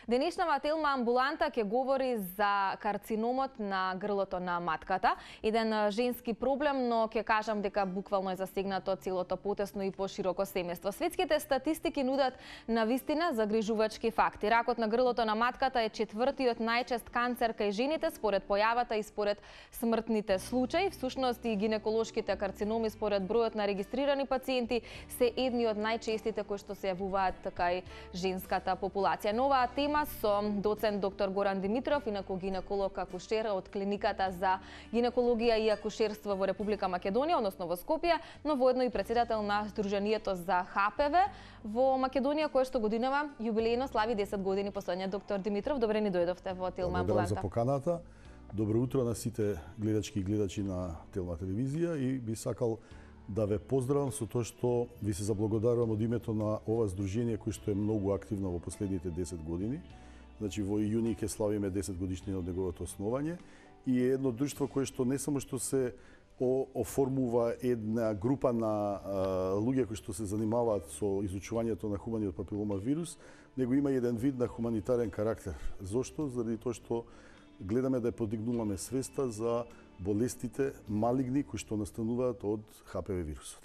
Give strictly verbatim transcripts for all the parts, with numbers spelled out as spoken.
Денешнава телма амбуланта ќе говори за карциномот на грлото на матката. Еден женски проблем, но ќе кажам дека буквално е засегнато целото потесно и пошироко семејство. Светските статистики нудат навистина загрижувачки факти. Ракот на грлото на матката е четвртиот најчест канцер кај жените според појавата и според смртните случаи. Всушност и гинеколошките карциноми според бројот на регистрирани пациенти се едни од најчестите кои што се јавуваат кај женската популација. Нова тема со доцент доктор Горан Димитров, инаку гинеколог акушер од клиниката за гинекологија и акушерство во Република Македонија, односно во Скопје, но воедно и претседател на Сдруженијето за Х П В во Македонија, кое што годинава јубилејно слави десет години последниот. Доктор Димитров, добре ни дојдовте во Телма амбуланта. Благодарам за поканата. Добро утро на сите гледачки и гледачи на Телма телевизија и би сакал да ве поздравам со тоа што ви се заблагодарувам од името на ова здружение кој што е многу активно во последните десет години. Значи во јуни ќе славиме десет годишнина од неговото основање и е едно друштво кое што не само што се оформува една група на а, луѓе кои што се занимаваат со изучувањето на хуманиот папилома вирус, него има еден вид на хуманитарен карактер. Зошто? Заради тоа што гледаме да подигнуваме свеста за болестите малигни кои што настануваат од Х П В вирусот.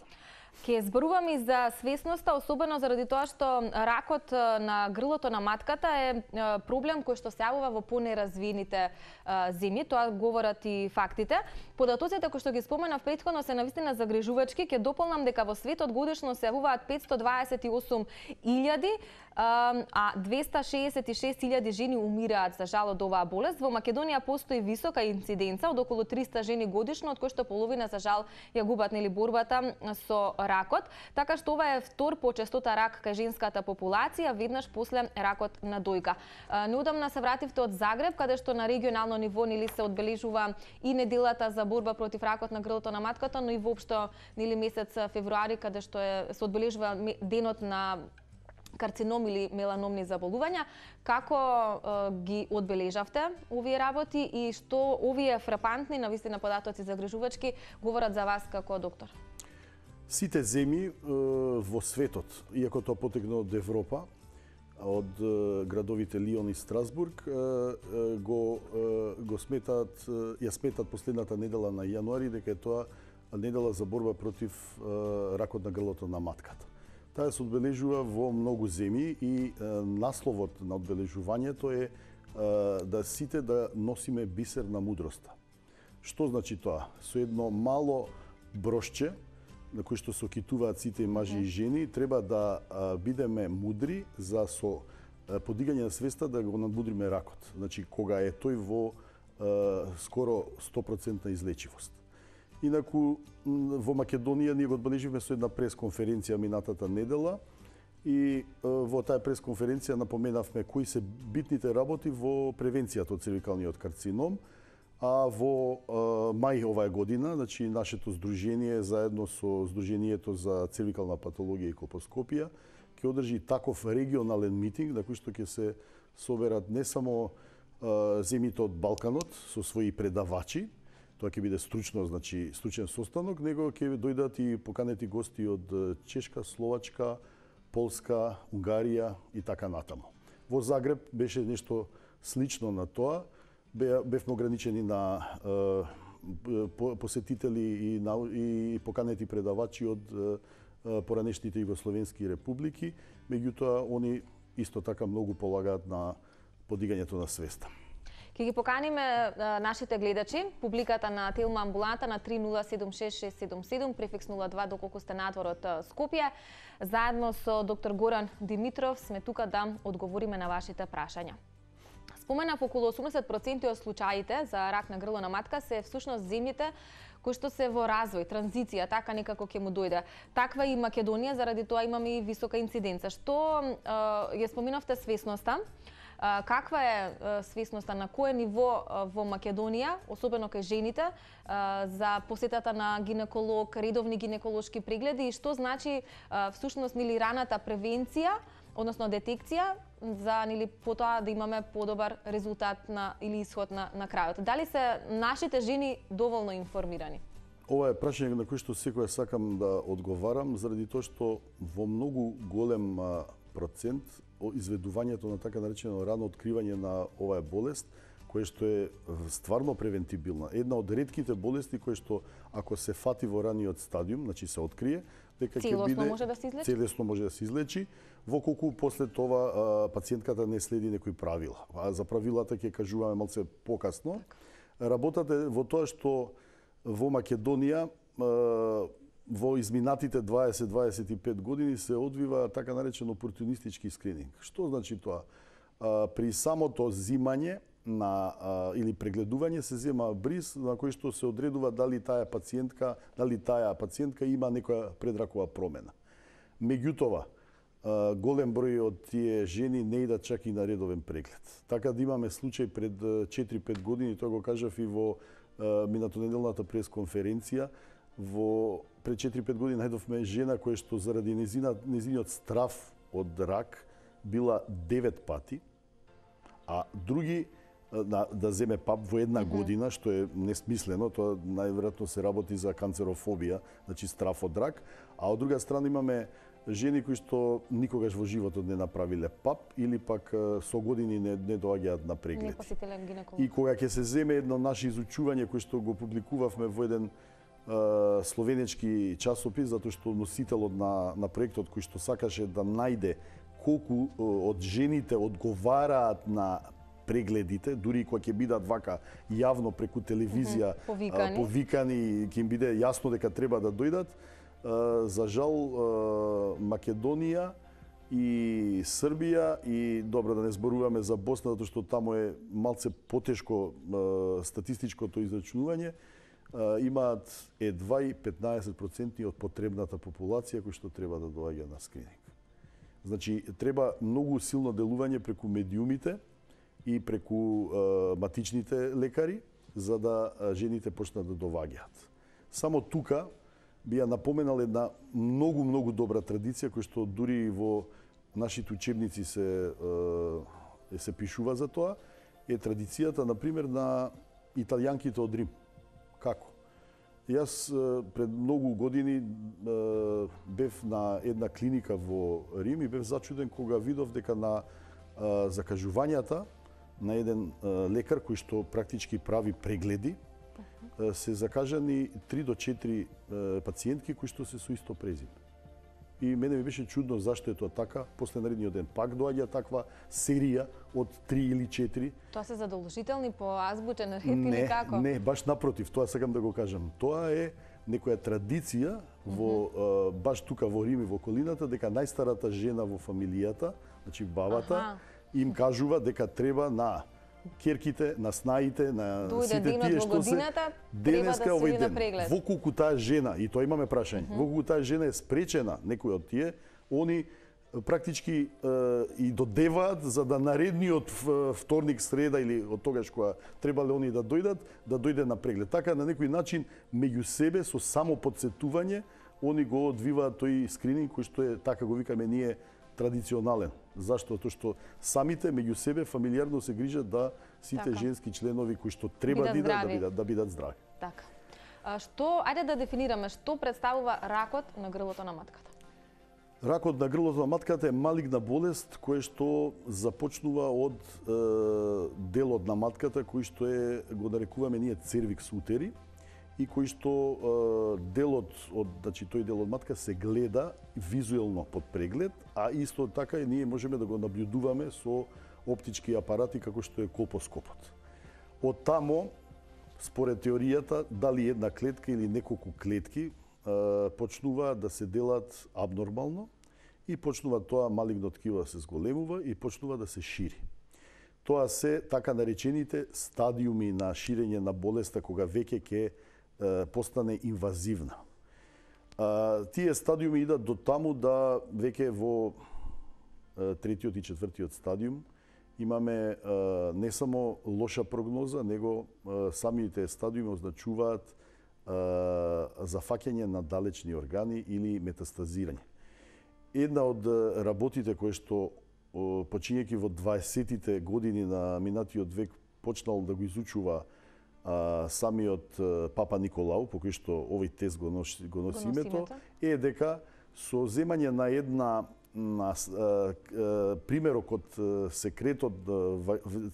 Ке зборуваме и за свесноста, особено заради тоа што ракот на грлото на матката е проблем кој што се јавува во понеразвиените земји, тоа говорат и фактите. Податоците кои што ги споменав претходно се навистина загрижувачки, ќе дополнам дека во светот годишно се јавуваат петстотини дваесет и осум илјади, а двеста шеесет и шест илјади жени умираат за жал од оваа болест. Во Македонија постои висока инциденца од околу триста жени годишно, од кои што половина за жал ја губат нели борбата со ракот, така што ова е втор по честота рак кај женската популација, веднаш после ракот на дојка. Неодамна се вративте од Загреб, каде што на регионално ниво нели се одбележува и неделата за борба против ракот на грлото на матката, но и воопшто нели месец февруари, каде што е се одбележува денот на карцином или меланомни заболувања. Како е, ги одбележавте овие работи и што овие фрапантни навистина податоци загрижувачки говорат за вас како доктор? Сите земји во светот, иако тоа потекне од Европа, од градовите Лион и Страсбург, го го сметаат, ја сметаат последната недела на јануари дека е тоа недела за борба против ракот на грлото на матката. Таа се одбележува во многу земји и насловот на одбележувањето е да сите да носиме бисер на мудроста. Што значи тоа? Со едно мало брошче на кој што се окитуваат сите мажи и жени, треба да а, бидеме мудри за со а, подигање на свеста да го надмудриме ракот. Значи, кога е тој во а, скоро сто проценти излечивост. Инаку, во Македонија ние го одбележивме со една пресконференција минатата недела и а, во таа пресконференција напоменавме кои се битните работи во превенцијата од цервикалниот карцином. А во а, мај оваа година, значи нашето здружение заедно со Здруженијето за цервикална патологија и колпоскопија ќе одржи таков регионален митинг на кој што ќе се соберат не само а, земјите од Балканот со своји предавачи, тоа ќе биде стручно, значи стручен состанок, него ќе дојдат и поканети гости од Чешка, Словачка, Полска, Унгарија и така натаму. Во Загреб беше нешто слично на тоа. Бевме ограничени на е, посетители и, на, и поканети предавачи од е, поранешните југословенски републики, меѓутоа они исто така многу полагаат на подигањето на свеста. Ќе ги поканиме а, нашите гледачи, публиката на Телма амбуланта на три нула седум шест шест седум седум, префикс нула два доколку сте надвор од Скопје. Заедно со доктор Горан Димитров сме тука да одговориме на вашите прашања. Споменав, околу осумдесет проценти од случаите за рак на грло на матка се всушност земјите кои што се во развој, транзиција, така некако ќе му дојде. Таква и Македонија, заради тоа имаме и висока инциденца. Што е, ја споменавте свесноста, е, каква е, е свесноста, на кое ниво е, во Македонија, особено кај жените, е, за посетата на гинеколог, редовни гинеколошки прегледи и што значи е, всушност нели раната превенција, односно детекција, за нели потоа да имаме подобар резултат на или исход на на крајот. Дали се нашите жени доволно информирани? Ова е прашање на кој што секоја сакам да одговарам, заради тоа што во многу голем процент изведувањето на така наречено рано откривање на оваа болест, која што е стварно превентибилна. Една од ретките болести кои што ако се фати во раниот стадиум, значи се открие, дека ќе биде може да се излечи? Целесно може да се излечи, во колку после тоа а, пациентката не следи некои правила. А за правилата ќе кажуваме малце покасно. Работата е во тоа што во Македонија а, во изминатите дваесет до дваесет и пет години се одвива така наречен опортунистички скрининг. Што значи тоа? А, при самото зимање на а, или прегледување се зема бриз на кој што се одредува дали таа пациентка, дали таа пациентка има некоја предракова промена. Меѓутоа, а, голем број од тие жени не идат чак и на редовен преглед. Така да имаме случај пред четири-пет години, тоа го кажав и во а, минатонеделната пресконференција, во пред четири-пет години најдовме жена која што заради незина, незиниот страф од рак била девет пати, а други да, да земе пап во една mm -hmm. година, што е несмислено, тоа најверојатно се работи за канцерофобија, значи страф од рак, а од друга страна имаме жени кои што никогаш во животот не направиле пап или пак со години не, не доаѓаат на преглед. Не посетиле гинеколог. И кога ќе се земе едно наше изучување кој што го публикувавме во еден uh, словенечки часопис, затоа што носителот на, на проектот кој што сакаше да најде колку од жените одговараат на прегледите, дури кога ќе бидат вака јавно преку телевизија mm -hmm. повикани. повикани, ќе им биде јасно дека треба да дојдат. За жал, Македонија и Србија и добро да не зборуваме за Босна, затоа што таму е малце потешко статистичкото израчунување, имаат едва и петнаесет проценти од потребната популација кој што треба да доаѓа на скрининг. Значи, треба многу силно делување преку медиумите и преку е, матичните лекари, за да жените почнат да доаѓаат. Само тука би ја напоменал една многу, многу добра традиција, која што дури во нашите учебници се, е, се пишува за тоа, е традицијата, например, на италијанките од Рим. Како? Јас пред многу години бев на една клиника во Рим и бев зачуден кога видов дека на закажувањата на еден лекар кој што практички прави прегледи се закажани три до четири пациентки кои што се со исто презиме. И мене ми беше чудно зашто е тоа така. После наредниот ден пак доаѓа таква серија од три или четири. Тоа се задолжителни по азбучен ред не, или како? Не, баш напротив, тоа сакам да го кажам. Тоа е некоја традиција во mm -hmm. баш тука во Рим и во околината, дека најстарата жена во фамилијата, значи бабата, ага. им кажува дека треба на керките, на снаите, на Дојде сите тие што се денеска да овој ден. Преглед. Во колку таа жена, и тоа имаме прашање, mm -hmm. во колку таа жена е спречена, некој од тие, они практички е, и додеваат за да наредниот вторник, среда или од тогаш кога требале они да дојдат, да дојде на преглед. Така на некој начин меѓу себе со само подсетување они го одвиваат тој скрининг кој што е, така го викаме ние, традиционален. Зашто? Тоа што самите меѓу себе фамилиарно се грижат да сите така. женски членови кои што треба да бидат да бидат, да бидат здрави. Така. А што, ајде да дефинираме што представува ракот на грлото на матката. Ракот на грлото на матката е малигна болест која што започнува од е, делот на матката кој што е, го нарекуваме ние цервикс утери, и кој што е, делот од, значи тој дел од матка се гледа визуелно под преглед, а исто така и ние можеме да го наблюдуваме со оптички апарати како што е колпоскопот. Од тамо, според теоријата, дали една клетка или неколку клетки е, почнува да се делат абнормално и почнува тоа малигно ткиво да се зголемува и почнува да се шири. Тоа се така наречените стадиуми на ширење на болеста кога веќе ќе постане инвазивна. А, тие стадиуми идат до таму да веќе во а, третиот и четвртиот стадиум имаме а, не само лоша прогноза, него а, самите стадиуми означуваат а, зафаќање на далечни органи или метастазирање. Една од работите кои што почињајќи во дваесеттите години на минатиот век почнал да го изучува а, самиот а, Папа Николау, по кој што овој тест го носи, го носи името, е дека со земање на една на примерок од секретот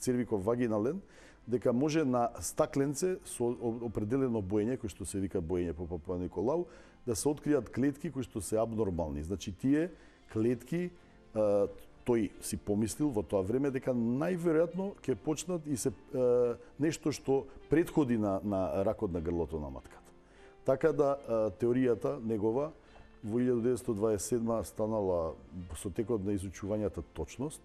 цервиков вагинален, дека може на стакленце со определено боење, кој што се вика боење по Папуа Николау, да се откријат клетки кои што се абнормални. Значи тие клетки, тој си помислил во тоа време дека најверојатно ќе почнат и се нешто што претходи на, на ракот на грлото на матката. Така да теоријата негова во илјада деветстотини дваесет и седма станала со текот на изучувањата точност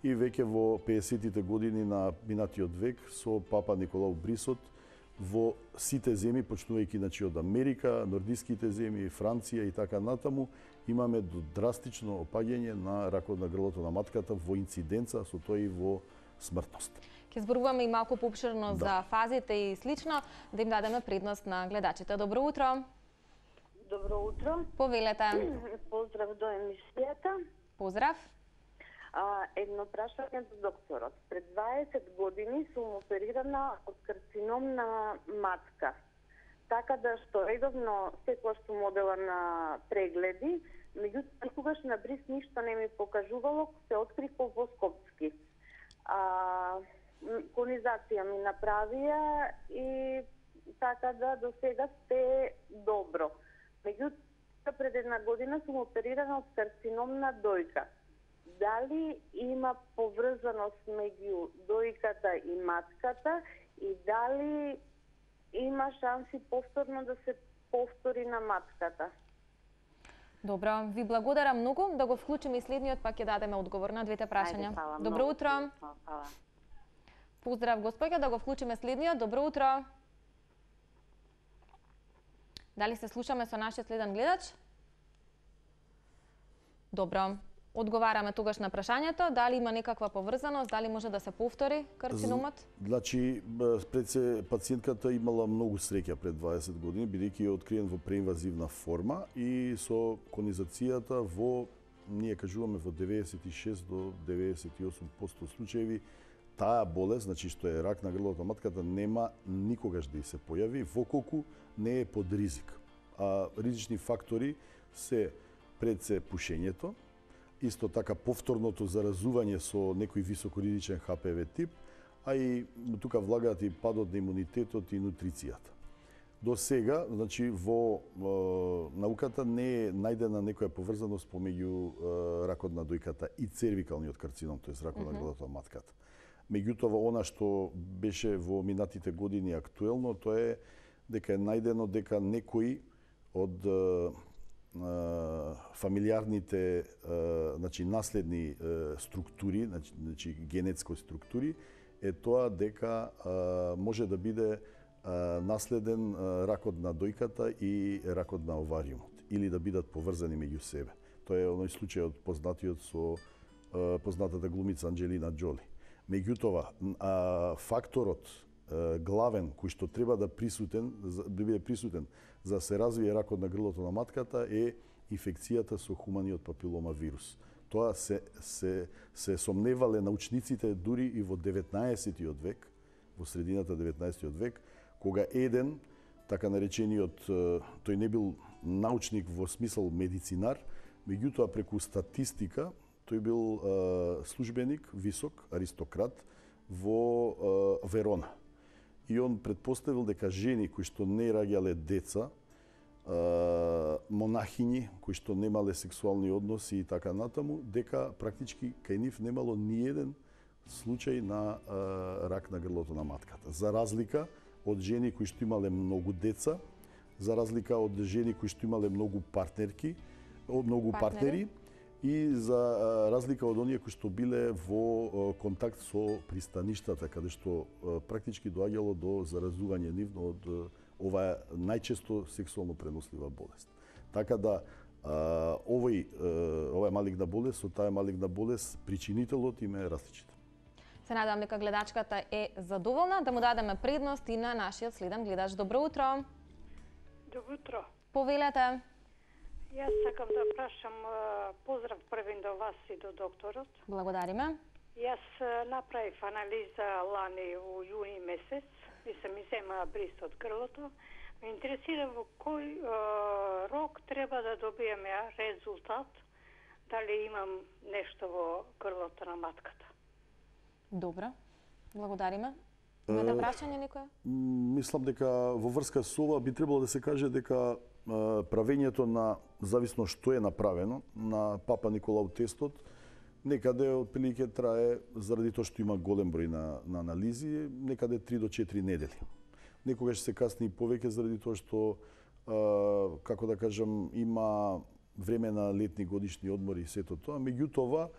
и веќе во пеесеттите години на минатиот век со Папа Николау Брисот во сите земји, почнувајќи значи од Америка, нордиските земји, Франција и така натаму, имаме драстично опаѓање на ракот на грлото на матката во инциденца, со тоа и во смртност. Ќе зборуваме и малку поопширно да. за фазите и слично, да им дадеме предност на гледачите. Добро утро. Добро утро. Повелете. Поздрав до емисијата. Поздрав. А, едно прашање до докторот. Пред дваесет години сум оперирана од карцином на матка. Така да што редовно секогаш сум одела на прегледи, меѓутоа никогаш на бриз ништо не ми покажувало, се открив колпоскопски. А, конизација ми направија и така да до сега сте добро. Меѓутоа пред една година сум оперирана од карцином на дојка. Дали има поврзаност меѓу дојката и матката и дали има шанси повторно да се повтори на матката? Добро, ви благодарам многу. Да го вклучиме и следниот, па ќе дадеме одговор на двете прашања. Ајде, хвала, Добро много. утро. Хвала. Поздрав, господја, да го вклучиме следниот. Добро утро. Дали се слушаме со нашиот следен гледач? Добро. Одговараме тогаш на прашањето, дали има некаква поврзаност, дали може да се повтори карциномот? Значи, пред се пациентката имала многу среќа пред дваесет години, бидејќи е откриен во преинвазивна форма и со конизацијата во, ние кажуваме, во деветдесет и шест до деветдесет и осум проценти случаеви, таа болест, значи што е рак на грлото на матката, нема никогаш да и се појави, воколку не е под ризик. А ризични фактори се пред се пушењето, исто така повторното заразување со некој високоризичен Х П В тип, а и тука влагаат и падот на имунитетот и нутрицијата. До сега, значи, во е, науката не е најдена некоја поврзаност помеѓу е, ракот на дојката и цервикалниот карцином, тоест ракот mm-hmm. на грлото на матката. Меѓутоа, она што беше во минатите години актуелно, тоа е дека е најдено дека некои од е, фамилиарните, значи наследни структури, значи, значи генетски структури, е тоа дека може да биде наследен ракот на дојката и ракот на овариумот, или да бидат поврзани меѓу себе. Тоа е оној случај од познатиот со познатата глумица Анџелина Џоли. Меѓутоа, факторот главен кој што треба да присутен, да биде присутен за да се развие ракот на грлото на матката е инфекцијата со хуманиот папилома вирус. Тоа се, се, се сомневале научниците дури и во деветнаесеттиот век, во средината деветнаесеттиот век, кога еден, така наречениот, тој не бил научник во смисол медицинар, меѓутоа преку статистика, тој бил е, службеник, висок, аристократ, во е, Верона. И он предпоставил дека жени кои што не раѓале деца, монахињи кои што немале сексуални односи и така натаму, дека практички кај нив немало ни еден случај на рак на грлото на матката. За разлика од жени кои што имале многу деца, за разлика од жени кои што имале многу партнерки, многу партнери, и за разлика од оние кои што биле во контакт со пристаништата, каде што практички доаѓало до заразување нивно од оваа најчесто сексуално пренослива болест. Така да овој оваа малигна болест, со таа малигна болест причинителот им е различит. Се надевам дека гледачката е задоволна, да му дадеме предност и на нашиот следен гледач. Добро утро. Добро утро. Повелете. Јас сакам да прашам, поздрав првен до вас и до докторот. Благодариме. Јас направив анализа лани во јуни месец и се ми зема бриз од грлото. Ме интересира во кој е, рок треба да добиеме резултат дали имам нешто во грлото на матката. Добро. Благодариме. Имате прашање некоја? Мислам дека во врска со ова би требало да се каже дека правењето на, зависно што е направено, на Папа Николау тестот, некаде отприлike трае, заради тоа што има голем број на, на анализи, некаде три до четири недели. Некогаш се касни и повеќе заради тоа што, а, како да кажам, има време на летни годишни одмори и сето тоа. Меѓутоа,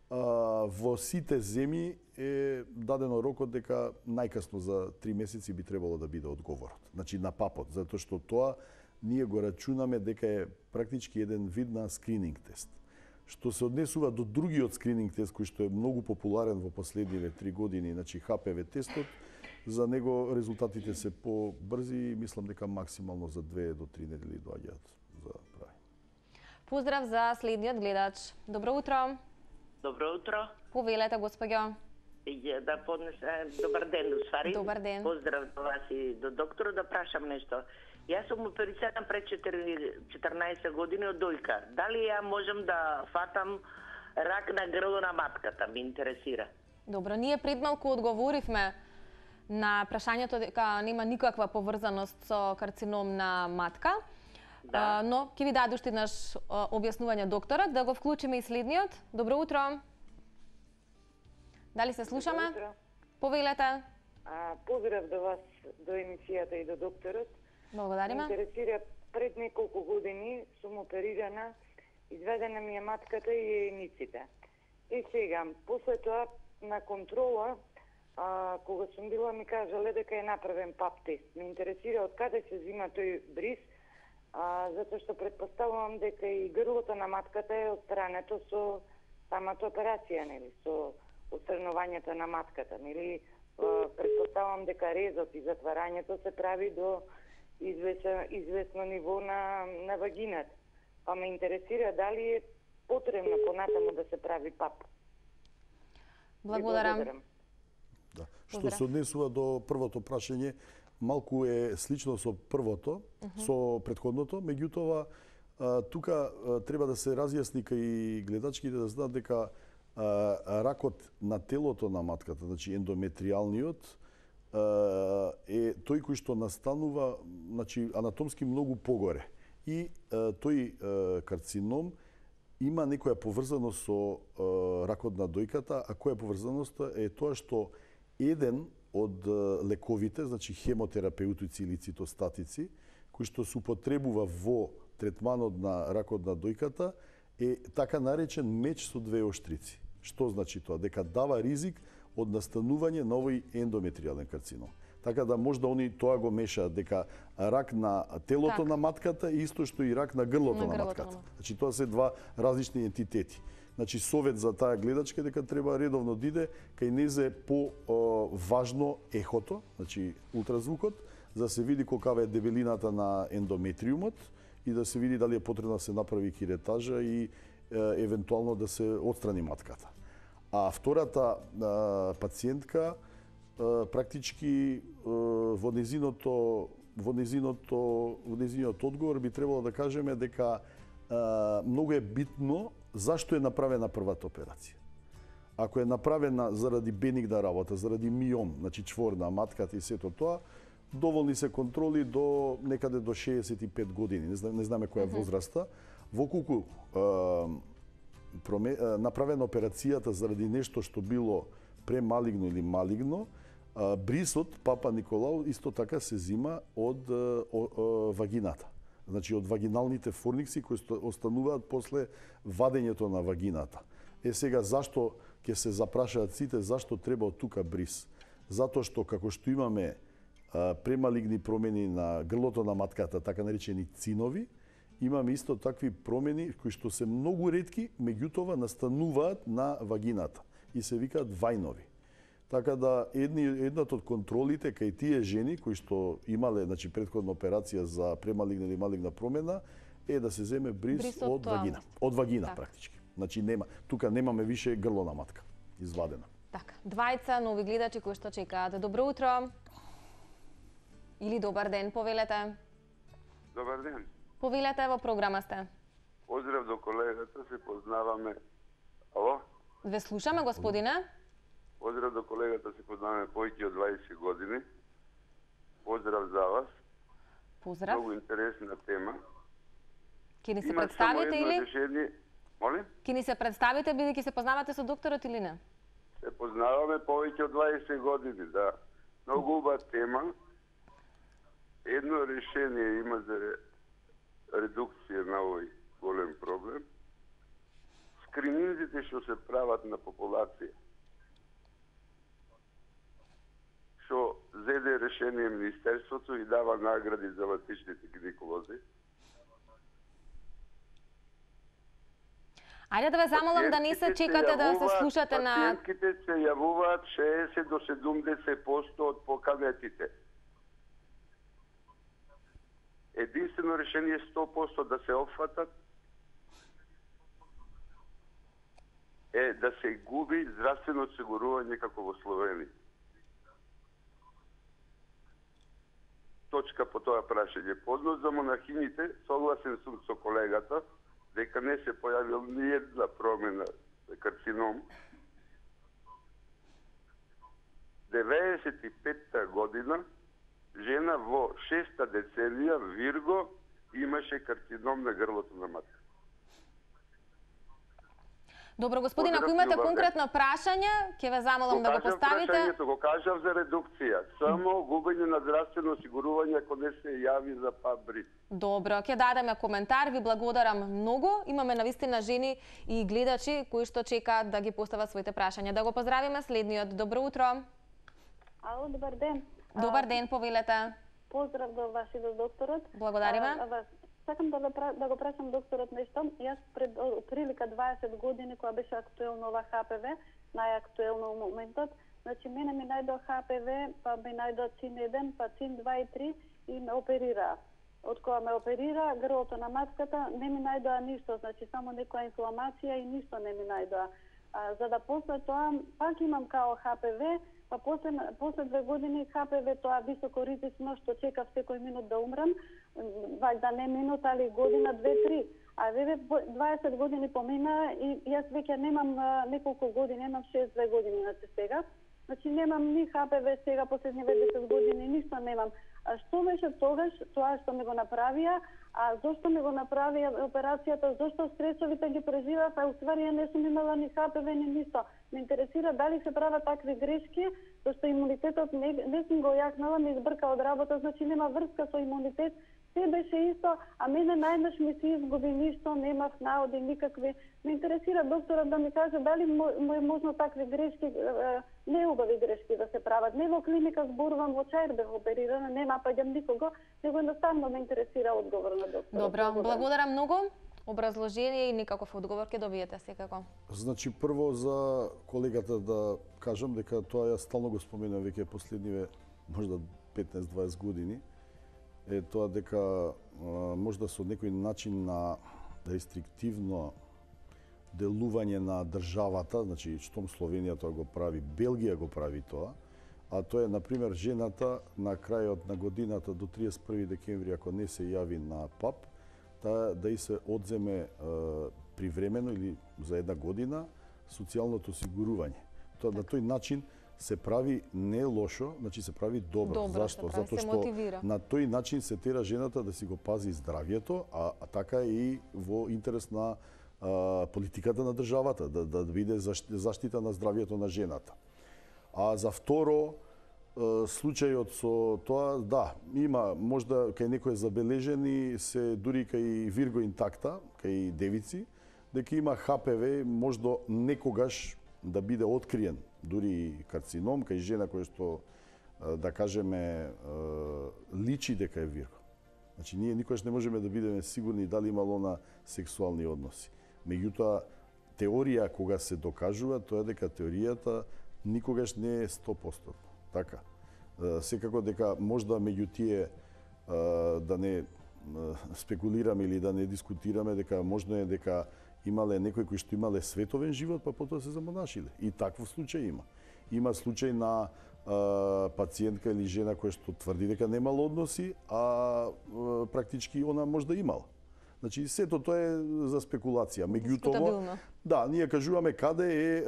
во сите земји е дадено рокот дека најкасно за три месеци би требало да биде одговорот. Значи на папот, затоа што тоа ние го рачунаме дека е практички еден вид на скрининг тест. Што се однесува до другиот скрининг тест кој што е многу популарен во последниве три години, значи Х П В тестот, за него резултатите се побрзи и мислам дека максимално за две до три недели доаѓаат за прави. Поздрав за следниот гледач. Добро утро. Добро утро. Повелете, господјо. Да поднесем добар ден, усвари. Добар ден. Поздрав до вас и до докторот, да прашам нешто. Јас сум оперициран пред четрнаесет години од дојка. Дали ја можам да фатам рак на грло на матката? Ме интересира. Добро, ние пред малку одговоривме на прашањето дека нема никаква поврзаност со карцином на матка. Да. Но ќе ви даде уште еднаш објаснување докторот, да го вклучиме и следниот. Добро утро. Дали се слушаме? Добро утро. Повелете. А, поздрав до вас, до емисијата и до докторот. Благодариме. Ме интересира, пред неколку години сум оперирана, изведена ми е матката и јајниците. И сега, после тоа на контрола, а, кога сум била, ми кажале дека е направен пап тест. Ме интересира од каде се зима тој бриз, а, затоа што предпоставувам дека и грлото на матката е отстрането со самата операција, нели, со отстранувањето на матката, нели. Предпоставувам дека резот и затварањето се прави до известно, известно ниво на, на вагината. Па ме интересира дали е потребно понатаму да се прави пап. Благодарам. Да. Што се однесува до првото прашање, малку е слично со првото, uh -huh. со претходното, меѓутоа тука треба да се разјасни кај гледачките да знаат дека ракот на телото на матката, значи ендометриалниот, е тој кој што настанува, значи анатомски многу погоре. И тој карцином има некоја поврзаност со ракот на дојката, а која поврзаноста е тоа што еден од лековите, значи хемотерапеутици или цитостатици, кои што се употребува во третманот на ракот на дојката, е така наречен меч со двеоштрици. Што значи тоа? Дека дава ризик од настанување на овој ендометриален карцином. Така да можда они тоа го мешаат, дека рак на телото так. на матката е исто што и рак на грлото на, на матката. На... Значи тоа се два различни ентитети. Значи совет за таа гледачка дека треба редовно да иде кај незе по о, важно ехото, значи ултразвукот, за да се види колкава е дебелината на ендометриумот и да се види дали е потребно да се направи киретажа и е, евентуално да се отстрани матката. А втората а, пациентка а, практички а, во незиното во незиното во незиниот одговор би требало да кажеме дека а, многу е битно зашто е направена првата операција. Ако е направена заради бенигна работа, заради миом, значи чвор на матката и сето тоа, доволни се контроли до некаде до шеесет и пет години, не, знам, не знаме која е возраста. Воколку а, проме, а, направена операцијата заради нешто што било премалигно или малигно, а, брисот Папа Николау исто така се зима од а, о, о, вагината. Значи од вагиналните форникси кои остануваат после вадењето на вагината. Е сега зашто ќе се запрашаат сите зашто треба од тука бриз? Затоа што како што имаме а, премалигни промени на грлото на матката, така наречени цинови, имаме исто такви промени кои што се многу ретки, меѓутоа настануваат на вагината и се викаат вајнови. Така да едни едната од контролите кај тие жени кои што имале значи претходна операција за премалигна или малигна промена е да се земе бриз, бриз од, од вагина, од вагина так. Практички. Значи нема, тука немаме више грло на матка извадена. Така, двајца нови гледачи кои што чекаат. Добро утро. Или добар ден, повелете. Добар ден. Повелете, во програма сте. Од Поздрав до колегата, се познаваме. Ало? Ве слушаме, господине. Поздрав до колегата, се познаваме повеќе од дваесет години. Поздрав за вас. Поздрав. Многу интересна тема. Ке ни се Има представите само едно или? решение. Молим? Ке ни се представите, бидејќи се познавате со докторот или не? Се познаваме повеќе од дваесет години, да. Многу убава тема. Едно решение има за редукција на овој голем проблем. Скрининзите што се прават на популација. Што зеде решение Министерството и дава награди за латичните гинеколози. Ајде да ве замолам да не се чекате да се слушате на... Пациентките се јавуваат шеесет до седумдесет проценти од поканетите. Единствено решение е сто проценти да се опфатат е да се губи здравствено осигурување како во Словенија. Точка по тоа прашање. По однос за монахините, согласен сум со колегата, дека не се појавил ни една промена за карцином. деветдесет и петта година, жена во шеста деценија, Вирго, имаше карцином на грлото на матка. Добро, господин, ако имате конкретно прашање, ќе ве замолам да го поставите. Прашањето го кажав за редукција. Само губење на здравствено осигурување ако не се јави за ПАБРИ. Добро, ќе дадеме коментар, ви благодарам многу. Имаме навистина жени и гледачи кои што чекаат да ги постават своите прашања. Да го поздравиме следниот. Добро утро. Ало, добар ден. Добар ден, повелете. Поздрав до вас и до докторот. Благодариме. Сакам да, да го прашам докторот нешто. Јас пред прилика дваесет години, кога беше актуелно ова Х П В, најактуелно во моментот, значи мене ми најдоа Х П В, па ми најдоа цин еден, па цин два и три и ме оперираа. Од кога ме оперира, грлото на матката не ми најдоа ништо, значи само некоја инфламација и ништо не ми најдоа. А, за да после тоа пак имам као Х П В, па после, после две години Х П В тоа високо ризично што чекав секој минут да умрам, вајда не минут, али година, две, три. А ве дваесет години помина и јас веќе немам неколку години, немам шест две години на сега. Значи немам ни Х П В сега последниве десет години, ништо немам. А што беше тогаш тоа што ми го направија, а зошто ми го направија операцијата, зошто стресовите ги преживав, а уствари ја не сум имала ни Х П В ни ништо. Ме интересира дали се прават такви грешки, зашто имунитетот не, не сум го јакнала, ми избрка од работа, значи нема врска со имунитет. Се беше исто, а мене најнаш ми се изгуби ништо, немав наоди никакви. Ме интересира докторот да ми каже дали му е можно такви грешки, неубави грешки да се прават. Не во клиника зборувам, во Чаир бев оперирана, не напаѓам никого, него едноставно ме интересира одговор на докторот. Добро, благодарам многу. Образложение и никаков одговор ќе добиете секако. Значи прво за колегата да кажам дека тоа ја стално го споменам веќе последниве можда петнаесет дваесет години. Е тоа дека а, можда со некој начин на рестриктивно делување на државата, значи штом Словенија тоа го прави, Белгија го прави тоа, а тоа е, например, жената на крајот на годината до триесет и први декември, ако не се јави на ПАП, та да и се одземе а, привремено или за една година социјалното осигурување. Тоа на тој начин се прави не лошо, значи се прави добро. Добро. Зашто? Затоа што мотивира. На тој начин се тера жената да си го пази здравјето, а, а така и во интерес на а, политиката на државата, да, да биде заштита на здравјето на жената. А за второ, случајот со тоа, да, има можда кај некој забележени се дури кај Вирго интакта, кај девици, дека има Х П В можда некогаш да биде откриен, дури карцином кај жена која што да кажеме личи дека е Вирго. Значи ние никогаш не можеме да бидеме сигурни дали имало на сексуални односи. Меѓутоа теорија кога се докажува тоа дека теоријата никогаш не е сто проценти. Така. Секако дека можда меѓу тие да не спекулираме или да не дискутираме дека можно е дека имале некои кои што имале световен живот, па потоа се замонашиле. И таков случај има. Има случај на а, пациентка или жена која што тврди дека немала односи, а, а практички она можда имала. Значи сето тоа е за спекулација. Меѓутоа, да, ние кажуваме каде е, е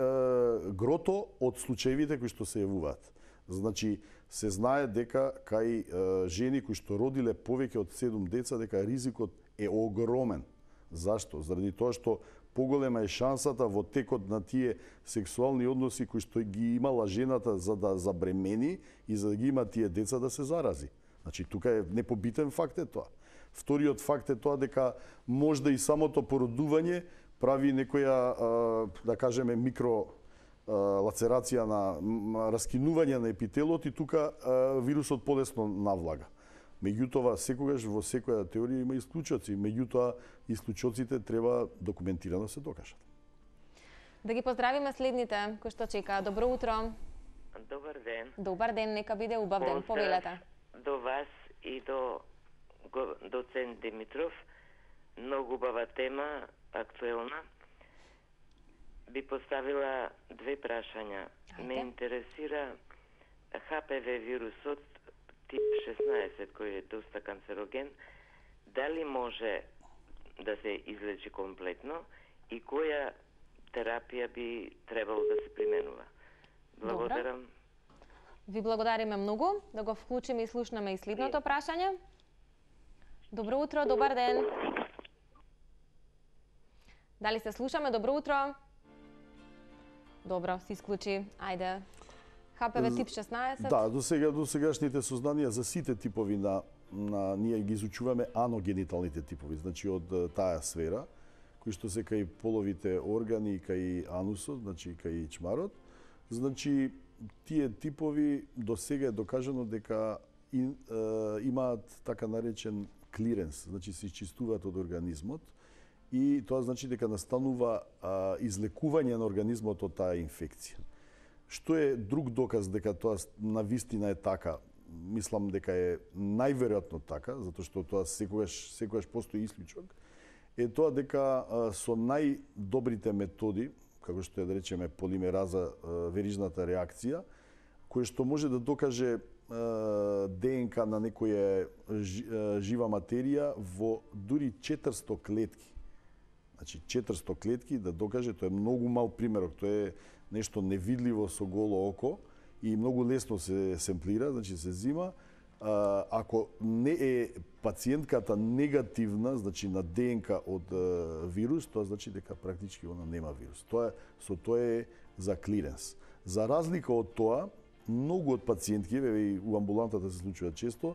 грото од случаевите кои што се јавуваат. Значи се знае дека кај е, жени кои што родиле повеќе од седум деца дека ризикот е огромен. Зашто? Заради тоа што поголема е шансата во текот на тие сексуални односи кои што ги имала жената за да забремени и за да ги има тие деца да се зарази. Значи тука е непобитен факт е тоа. Вториот факт е тоа дека можда и самото породување прави некоја, да кажеме, микро лацерација на раскинување на епителот и тука вирусот полесно навлага. Меѓутоа, секогаш во секоја теорија има исклучоци, меѓутоа исклучоците треба документирано се докажат. Да ги поздравиме следните кои што чекаат. Добро утро. Добар ден. Добар ден, нека биде убав ден. Повелете. До вас и до доцент Димитров. Многу убава тема, актуелна. Би поставила две прашања. Ме интересира Х П В вирусот тип шеснаесет, кој е доста канцероген. Дали може да се излечи комплетно и која терапија би требало да се применува? Благодарам. Ви благодариме многу. Да го вклучиме и слушнеме и следното прашање. Добро утро, добар ден. Дали се слушаме? Добро утро. Добро, се исклучи. Ајде. Х П В тип шеснаесет? Да, до сега до сегашните сознанија за сите типови на на ние ги изучуваме аногениталните типови, значи од таа сфера, кои што се кај половите органи, кај анусот, значи кај чмарот. Значи тие типови до сега е докажано дека и, е, имаат така наречен клиренс, значи се изчистуваат од организмот и тоа значи дека настанува а, излекување на организмот од таа инфекција. Што е друг доказ дека тоа навистина е така? Мислам дека е најверојатно така, затоа што тоа секогаш секогаш постои исклучок, е тоа дека а, со најдобрите методи, како што е да речеме полимераза, а, верижната реакција, кој што може да докаже Д Н К на некоја жива материја во дури четиристо клетки. Значи четиристо клетки да докаже, тоа е многу мал примерок, тоа е нешто невидливо со голо око и многу лесно се семплира, значи се зима. Ако не е пациентката негативна, значи на Д Н К од вирус, тоа значи дека практички она нема вирус. Тоа со тоа е за клиренс. За разлика од тоа, многу од пациентки, и у амбулантата се случува често,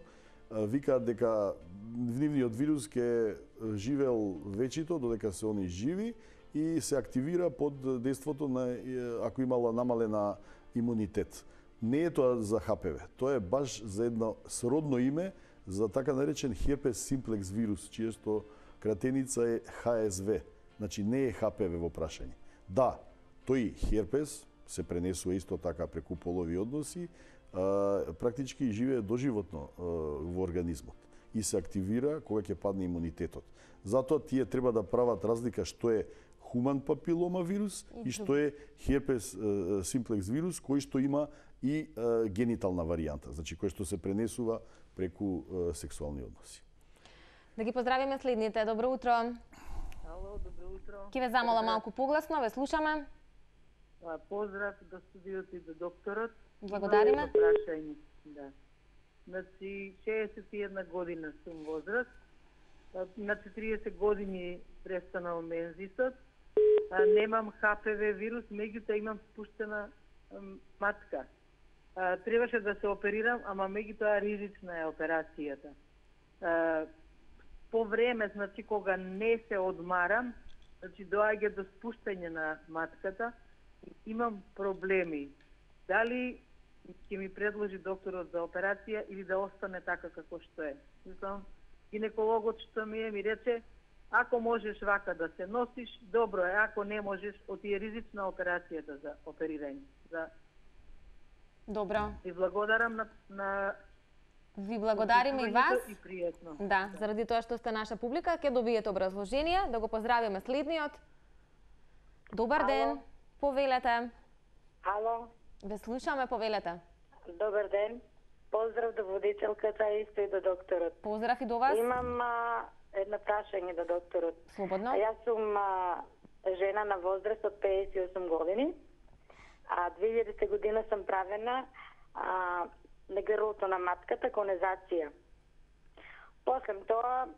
викаат дека нивниот вирус ќе живеел вечито, додека се они живи и се активира под дејството на ако имала намалена имунитет. Не е тоа за Х П В, тоа е баш за едно сродно име за така наречен херпес симплекс вирус, чија што кратеница е Х С В. Значи не е Х П В во прашање. Да, тој херпес се пренесува исто така преку полови односи, а, практички живее доживотно а, во организмот и се активира кога ќе падне имунитетот. Затоа тие треба да прават разлика што е хуман папилома вирус и што е херпес а, симплекс вирус кој што има и а, генитална варијанта, значи кој што се пренесува преку а, сексуални односи. Да ги поздравиме следните. Добро утро. Ало, добро утро. Ќе ве замола малку погласно, ве слушаме. Поздрав до студиото и до докторот. Благодариме. Прашање. Да. Значи, шеесет и една година сум возраст. На четириесет години престанал мензисот. Немам Х П В вирус, меѓутоа имам спуштена матка. Требаше да се оперирам, ама меѓутоа ризична е операцијата. По време, значи, кога не се одмарам, значи, доаѓа до спуштање на матката, имам проблеми. Дали ќе ми предложи докторот за операција или да остане така како што е? Мислам, гинекологот што ми е ми рече, ако можеш вака да се носиш, добро е, ако не можеш, оти е ризична операцијата за оперирање. За... Добро. И благодарам на, на... Ви благодариме и вас. И пријатно. Да, заради тоа што сте наша публика, ќе добиете образложение. Да го поздравиме следниот. Добар Ало. ден. Повелете. Ало. Ве слушаме, повелете. Добар ден. Поздрав до водителката и исто и до докторот. Поздрав и до вас. Имам а, едно прашање до докторот. Слободно. А јас сум а, жена на возраст од педесет и осум години. А две илјадесета година сум правена а, на грлото на матката конезација. После тоа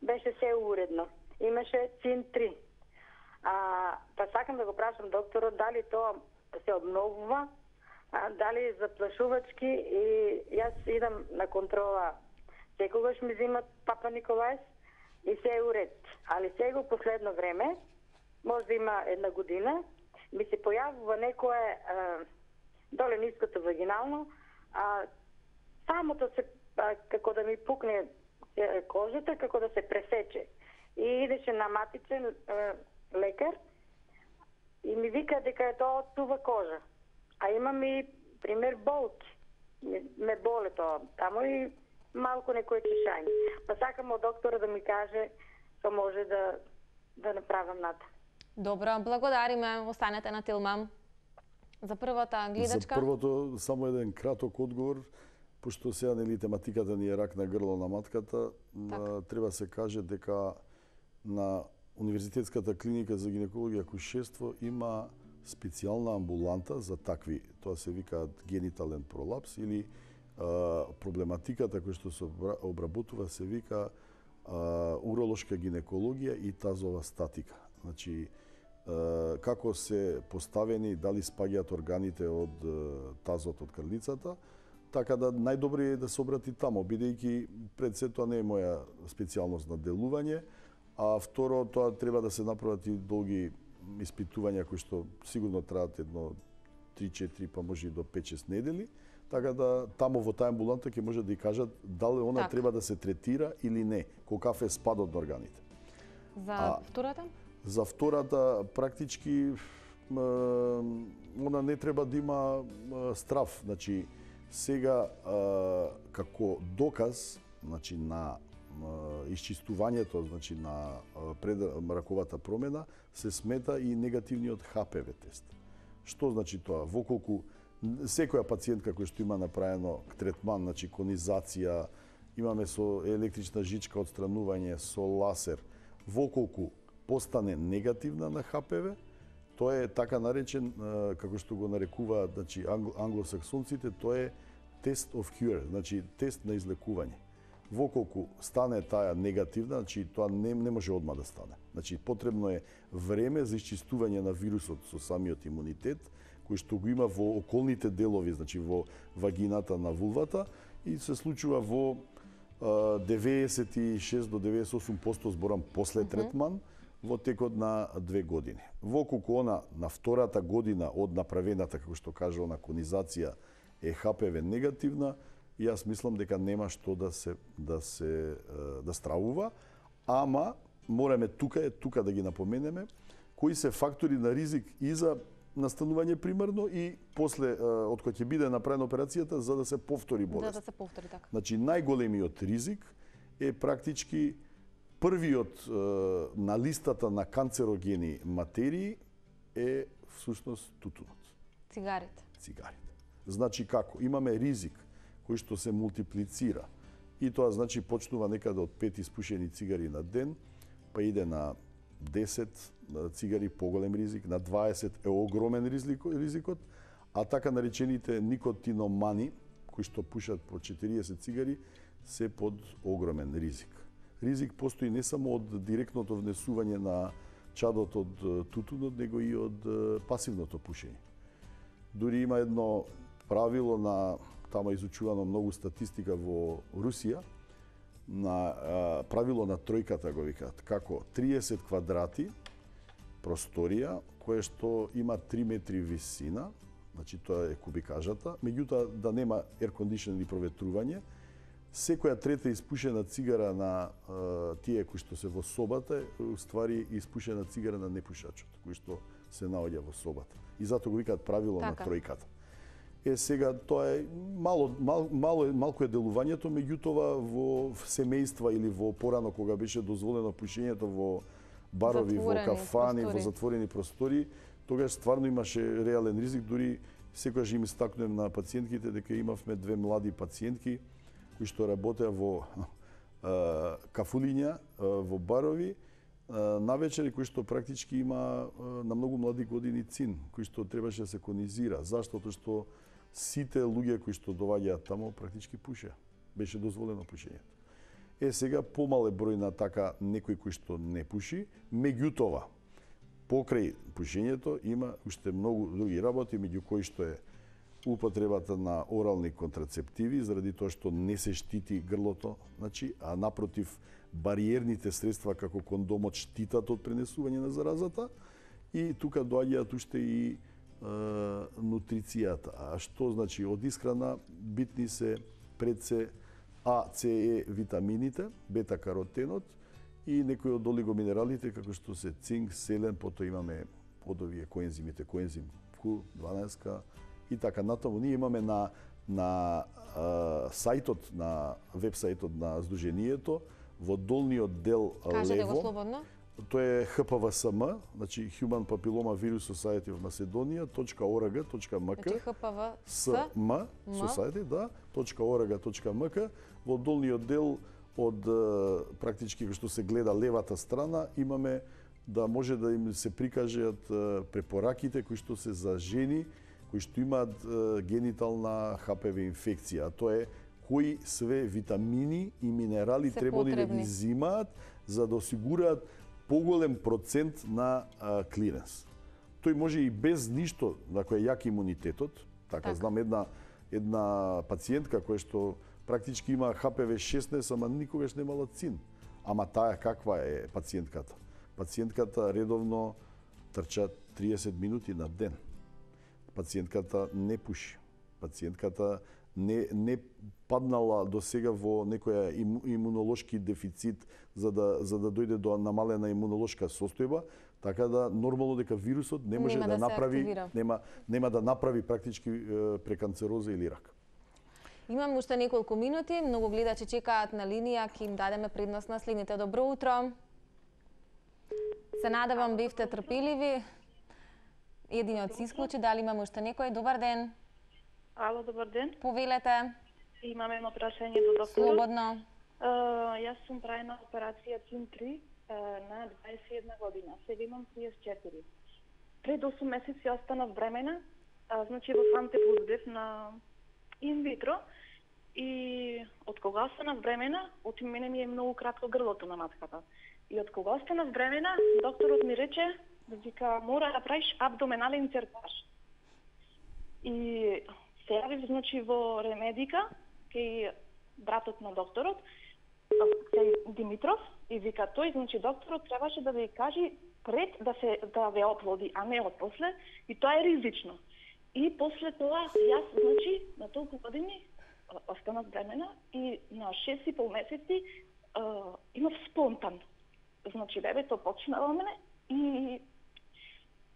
беше се уредно. Имаше цин три. А, па сакам да го прашам докторот дали тоа се обновува, а, дали заплашувачки, и јас идам на контрола секогаш ми взимат Папа Николајс и се е уред. Али сега последно време, може да има една година, ми се појавува некое а, доле ниското вагинално, а, самото се, а, како да ми пукне кожата, како да се пресече. И идеше на матичен а, лекар и ми вика дека е тоа од сува кожа. А имам и пример болки. Ме боле тоа. Тамо и малку некој чешање. Па сакам од доктора да ми каже што може да да направам нато. Добро, благодариме. Останете на Тилмам. За првата гледачка. За првото само еден краток одговор, пошто сега нели тематиката ни е рак на грло на матката, така. Треба се каже дека на Универзитетската клиника за гинекологија и акушерство има специјална амбуланта за такви, тоа се викаат генитален пролапс или а, проблематиката која што се обработува се вика а, уролошка гинекологија и тазова статика. Значи, а, како се поставени, дали спаѓаат органите од тазот од крлицата, така да најдобро е да се обрати тамо, бидејќи пред се тоа не е моја специјалност на делување, а второ, тоа треба да се направат и долги испитувања кои што сигурно траат едно три-четири, па може и до пет-шест недели, така да тамо во таа амбуланта ќе може да и кажат дали она так. треба да се третира или не, колкав е спадот на органите. За а, втората? За втората практички она не треба да има страв, значи сега како доказ, значи на исчистувањето, значи на предраковата промена, се смета и негативниот Х П В тест. Што значи тоа? Воколку секоја пациентка која што има направено третман, значи конизација, имаме со електрична жичка отстранување, со ласер, воколку постане негативна на Х П В, тоа е така наречен, како што го нарекуваат, значи англосаксонците, тоа е тест of cure, значи тест на излекување. Воколку стане таа негативна, значи тоа не, не може одма да стане. Значи потребно е време за исчистување на вирусот со самиот имунитет, кој што го има во околните делови, значи во вагината на вулвата, и се случува во деветдесет и шест до деветдесет и осум проценти зборам после третман, во текот на две години. Воколку она на втората година од направената, како што кажа, она конизација е Х П В негативна, јас мислам дека нема што да се да се да стравува, ама мораме тука е тука да ги напоменеме кои се фактори на ризик и за настанување примерно и после од кога ќе биде направена операцијата за да се повтори болест. Да, да се повтори така. Значи најголемиот ризик е практички првиот на листата на канцерогени материи е всушност тутунот. Цигарите. Цигарите. Значи како? Имаме ризик кој што се мултиплицира. И тоа значи почнува некаде од пет испушени цигари на ден, па иде на десет цигари поголем ризик, на дваесет е огромен ризикот, а така наречените никотиномани, кои што пушат по четириесет цигари, се под огромен ризик. Ризик постои не само од директното внесување на чадот од тутунот, него и од пасивното пушење. Дури има едно правило на тама изучувано многу статистика во Русија, на а, правило на тројката го викаат, како триесет квадрати просторија, кое што има три метри висина, значи тоа е кубикажата, меѓутоа да нема еркондишен или проветрување, секоја трета испушена цигара на а, тие кои што се во собата е уствари испушена цигара на непушачот, кој што се наоѓа во собата. И затоа го викаат правило така. На тројката. Е, сега, тоа е мало, мал, мало, малко е делувањето, меѓутоа во семејства или во порано кога беше дозволено пушењето во барови, затворени во кафани, простори. Во затворени простори, тогаш стварно имаше реален ризик, дури секогаш им истакнувам на пациентките дека имавме две млади пациентки кои што работеа во кафулиња во барови, навечери кои што практички има на многу млади години цин, кои што требаше да се конизира. Зашто? Тоа што сите луѓе кои што доаѓаат таму практички пуше. Беше дозволено пушењето. Е, сега помал е број на така некој кој што не пуши, меѓутоа, покрај пушењето има уште многу други работи, меѓу кои што е употребата на орални контрацептиви, заради тоа што не се штити грлото, значи, а напротив, бариерните средства како кондомот штитат од пренесување на заразата, и тука доаѓаат уште и е, нутрицијата. А што значи? Од исхрана битни се пред се А, С, Е витамините, бета-каротенот и некои од олигоминералите како што се цинк, селен, потоа имаме од овие коензимите, коензим Q дванаесет и така натаму. Ние имаме на на а, сајтот, на веб-сајтот на Сдруженијето, во долниот дел Кажете лево. го слободно. Тоа е Х П В С М, значи Human Papilloma Virus Society of Macedonia .org.mk. Значи Х П В С М Society, да, .org.mk. Во долниот дел од практички што се гледа левата страна имаме да може да им се прикажат препораките кои што се за жени кои што имаат генитална Х П В инфекција. Тоа е кои све витамини и минерали треба да ги взимаат за да осигураат поголем процент на а, клиренс. Тој може и без ништо, на кој е јак имунитетот. Така, така. Знам една една пациентка која што практички има Х П В шеснаесет, ама никогаш немала цин. Ама таа каква е пациентката? Пациентката редовно трча триесет минути на ден. Пациентката не пуши. Пациентката не не паднала до сега во некоја им, имунолошки дефицит за да за да дојде до намалена имунолошка состојба, така да нормално дека вирусот не може нема да, да направи нема нема да направи практички е, преканцероза или рак. Имам уште неколку минути, многу гледачи чекаат на линија, ќе им дадеме предност на следните. Добро утро. Се надевам бевте трпеливи. Единиот се исклучи, дали имаме уште некој? Добар ден. Ало, добар ден. Повелете. Имаме едно прашање до докторот. Слободно. Uh, јас сум правена операција цин три uh, на дваесет и една година. Сега имам триесет и четири. Пред осум месеци останав бремена, uh, значи во самте плододев на инвитро, и од кога останав бремена, од мене ми е многу кратко грлото на матката. И од кога останав бремена, докторот ми рече, вика, мора да правиш абдоменален цертаж. И се јавив, значи, во Ремедика, кај братот на докторот, кај Димитров, и вика тој, значи, докторот требаше да ви кажи пред да се да ве оплоди, а не отпосле, и тоа е ризично. И после тоа, јас, значи, на толку години останав бремена и на шест и пол месеци uh, имав спонтан. Значи, бебето почна во мене и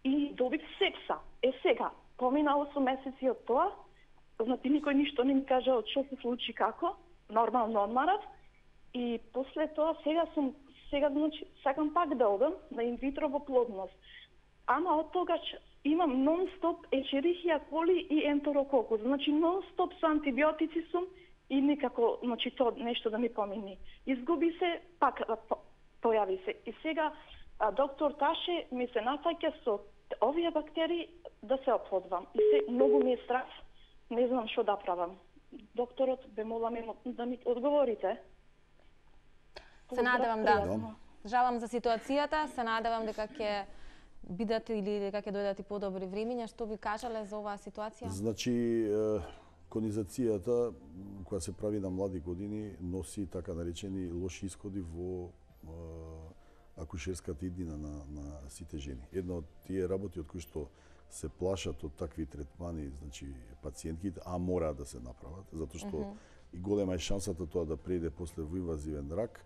и добив сепса. Е сега, помина осум месеци од тоа, значи никој ништо не ми кажа од што се случи како, нормално одмарав, и после тоа сега сум, сега значи, сакам пак да одам на инвитро во плодност. Ама од тогаш имам нон-стоп ечерихија коли и ентерококус, значи нон-стоп со антибиотици сум и никако, значи тоа нешто да ми помини. Изгуби се, пак појави се. И сега а, доктор Таше ми се нафаќа со овие бактерии да се оплодвам. И се многу ми е страх, не знам што да правам. Докторот, бе молам да ми одговорите. Се надевам, да. Жалам за ситуацијата, се надевам дека ќе бидат или дека ќе дојдат и подобри времиња. Што би кажале за оваа ситуација? Значи, конизацијата која се прави на млади години носи така наречени лоши исходи во акушерската иднина на, на сите жени. Една од тие работи од кои што се плашат од такви третмани, значи пациентките, а мора да се направат, затоа што mm -hmm. и голема е шансата тоа да преиде после во инвазивен рак,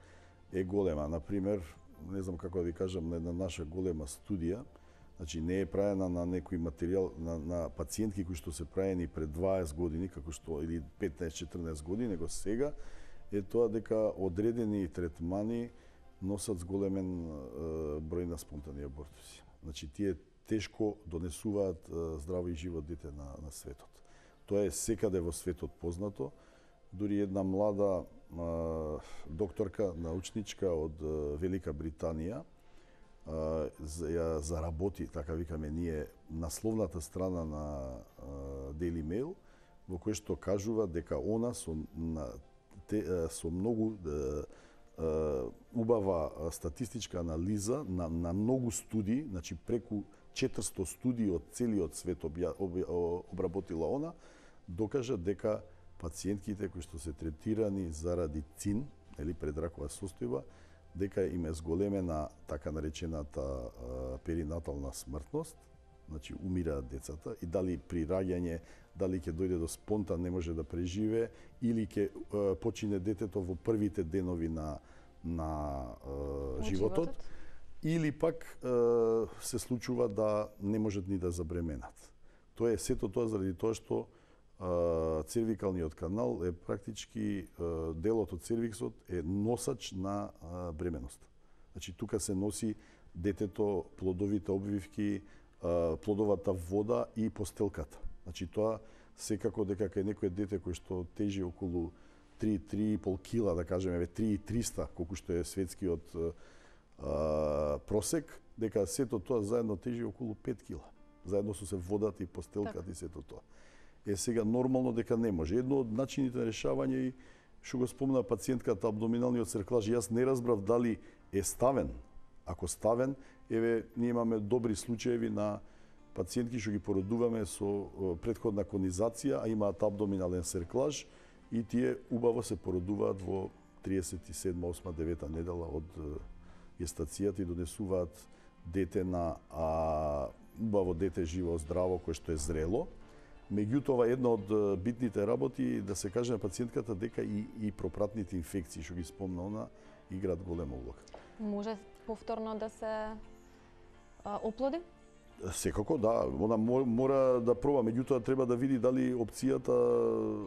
е голема. Например, не знам како да ви кажам, на една наша голема студија, значи не е правена на некој материјал на, на пациентки кои што се правени пред дваесет години, како што или петнаесет-четрнаесет години, него сега е тоа дека одредени третмани носат зголемен е, број на спонтани абортуси. Значи тие тешко донесуваат е, здраво и живот дете на, на светот. Тоа е секаде во светот познато. дури една млада а, докторка, научничка од а, Велика Британија, а, ја заработи, така викаме ние, насловната страна на а, Daily Mail, во кој што кажува дека она со, на, те, а, со многу а, а, убава статистичка анализа на, на многу студии, значи преку четиристо студии од целиот свет обја, об, обработила она, докажа дека пациентките кои што се третирани заради цин, или предракова состојба, дека им е зголемена така наречената а, перинатална смртност, значи умираат децата, и дали при раѓање, дали ќе дојде до спонтан, не може да преживее, или ќе а, почине детето во првите денови на, на а, животот, животот, или пак а, се случува да не можат ни да забременат. Тоа е сето тоа заради тоа што цервикалниот канал е практички делот од цервиксот е носач на бременост. Значи тука се носи детето, плодовите обвивки, плодовата вода и постелката. Значи тоа секако дека кај некој дете кој што тежи околу три до три и пол кила, да кажеме три и триста, колку што е светскиот а, просек, дека сето тоа заедно тежи околу пет кила. Заедно со се водата и постелката и сето тоа. Е сега нормално дека не може. Едно од начините на решавање и што го спомна пациентката абдоминалниот серклаж, јас не разбрав дали е ставен. Ако ставен, еве ние имаме добри случаеви на пациентки што ги породуваме со претходна конизација, а имаат абдоминален серклаж и тие убаво се породуваат во триесет и седма, осма, девета недела од гестацијата и донесуваат дете на а, убаво дете живо, здраво, кое што е зрело. Меѓутоа, една од битните работи да се каже на пациентката дека и, и пропратните инфекции, што ги спомна она, играат голема улога. Може повторно да се а, оплоди? Секако, да. Она мора да проба, меѓутоа треба да види дали опцијата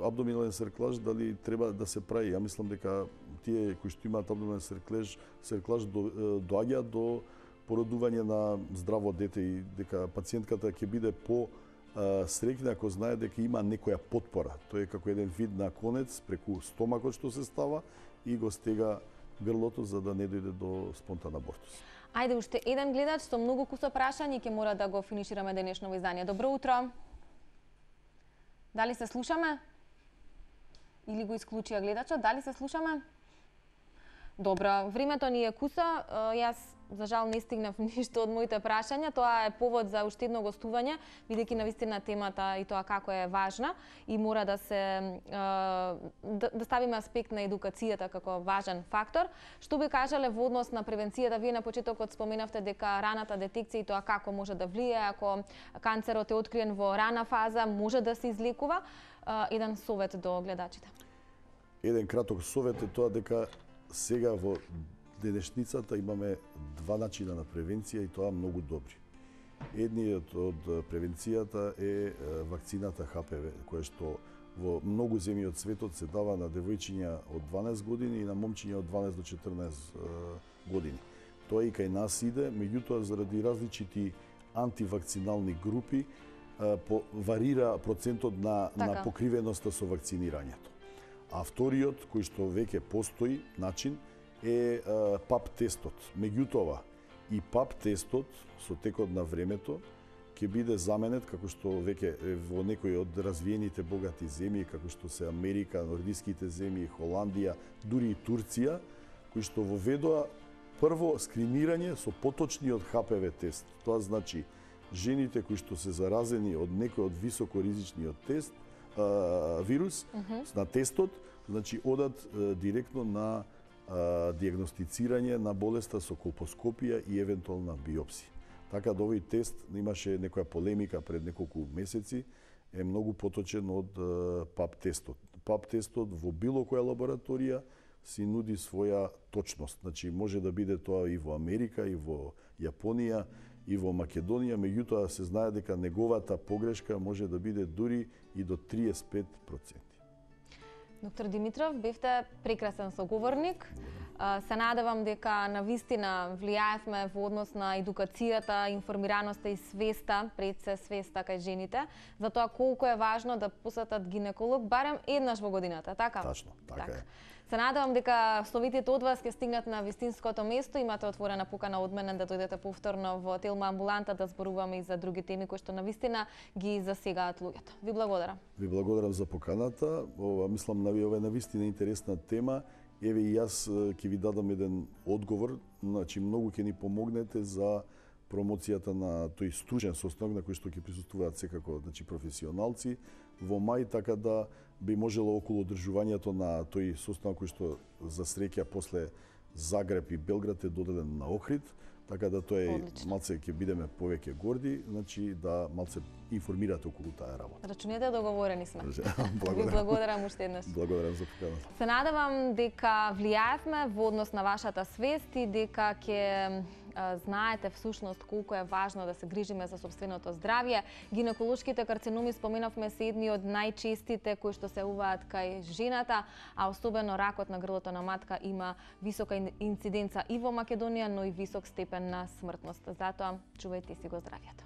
абдоминален серклаж, дали треба да се прави. Ја мислам дека тие кои што имаат абдоминален серклаж, серклаж до, доаѓаат до породување на здраво дете и дека пациентката ќе биде по среќна ако знае дека има некоја потпора. Тоа е како еден вид на конец преку стомакот што се става и го стега грлото за да не дојде до спонтан абортус. Ајде, уште еден гледач со многу куса прашања ќе мора да го финишираме денешното издание. Добро утро. Дали се слушаме? Или го исклучија гледачот? Дали се слушаме? Добро, времето ни е куса. Јас за жал не стигнав ништо од моите прашања. Тоа е повод за уште едно гостување, бидејќи навистина темата и тоа како е важна и мора да се да, да ставиме аспект на едукацијата како важен фактор. Што би кажале во однос на превенцијата? Вие на почетокот споменавте дека раната детекција и тоа како може да влијае, ако канцерот е откриен во рана фаза, може да се излекува. Еден совет до гледачите. Еден краток совет е тоа дека сега во денешницата имаме два начина на превенција и тоа многу добри. Едниот од превенцијата е вакцината Х П В, која што во многу земји од светот се дава на девојчиња од дванаесет години и на момчиња од дванаесет до четрнаесет години. Тоа и кај нас иде, меѓутоа заради различити антивакцинални групи по, варира процентот на, така. на покривеноста со вакцинирањето. А вториот, кој што веќе постои начин, е пап тестот. Меѓутоа, и пап тестот со текот на времето ќе биде заменет, како што веќе во некои од развиените богати земји, како што се Америка, нордиските земји, Холандија, дури и Турција, кои што воведоа прво скринирање со поточниот Х П В тест. Тоа значи жените кои што се заразени од некој од високоризичниот тест, а, вирус, uh -huh. на тестот, значи одат а, директно на а, диагностицирање на болеста со колпоскопија и евентуална биопсија. Така да овој тест имаше некоја полемика пред неколку месеци, е многу поточен од а, пап тестот. Пап тестот во било која лабораторија си нуди своја точност. Значи може да биде тоа и во Америка, и во Јапонија, и во Македонија, меѓутоа се знае дека неговата погрешка може да биде дури и до триесет и пет проценти. Доктор Димитров, бевте прекрасен соговорник. Се надевам дека навистина влијаевме во однос на едукацијата, информираноста и свеста, пред се свеста кај жените, за тоа колку е важно да посетат гинеколог барем еднаш во годината, така? Тачно, така е. Се надевам дека советите од вас ќе стигнат на вистинското место. Имате отворена покана од мене да дојдете повторно во Телма амбуланта да зборуваме и за други теми кои што навистина ги засегаат луѓето. Ви благодарам. Ви благодарам за поканата. Ова мислам на ова е навистина интересна тема. Еве и јас ќе ви дадам еден одговор, значи многу ќе ни помогнете за промоцијата на тој стручен состанок на кој што ќе присуствуваат секако, значи професионалци во мај, така да би можело околу одржувањето на тој состанок кој што за среќа после Загреб и Белград е доделен на Охрид, така да тоа е малце ќе бидеме повеќе горди, значи да малце информирате околу таа работа. Рачунете, договорени сме. Благодарам. Ви благодарам уште еднаш. Благодарам за поканата. Се надевам дека влијаевме во однос на вашата свест и дека ќе знаете всушност колку е важно да се грижиме за собственото здравје. Гинеколошките карциноми, споменавме, се едни од најчестите кои што се јавуваат кај жената, а особено ракот на грлото на матка има висока инциденца и во Македонија, но и висок степен на смртност. Затоа чувајте си го здравјето.